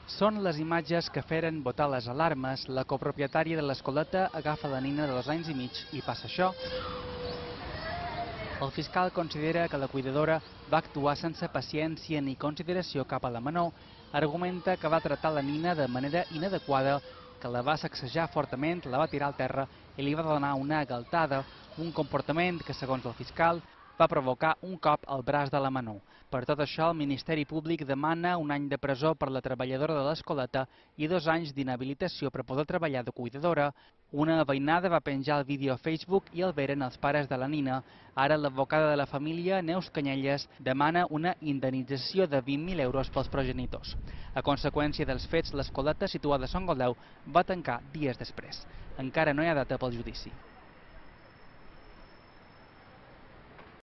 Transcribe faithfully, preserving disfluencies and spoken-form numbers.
Són les imatges que feren botar les alarmes. La copropietària de l'escoleta agafa la nina de dos anys i mig i passa això. El fiscal considera que la cuidadora va actuar sense paciència ni consideració cap a la menor. Argumenta que va tractar la nina de manera inadequada, que la va sacsejar fortament, la va tirar al terra i li va donar una galtada, un comportament que, segons el fiscal, va provocar un cop al braç de la menor. Per tot això, el Ministeri Públic demana un any de presó per la treballadora de l'escoleta i dos anys d'inhabilitació per poder treballar de cuidadora. Una veïnada va penjar el vídeo a Facebook i el veren els pares de la nina. Ara l'advocada de la família, Neus Canyelles, demana una indemnització de vint mil euros pels progenitors. A conseqüència dels fets, l'escoleta situada a Sant Goldeu va tancar dies després. Encara no hi ha data pel judici.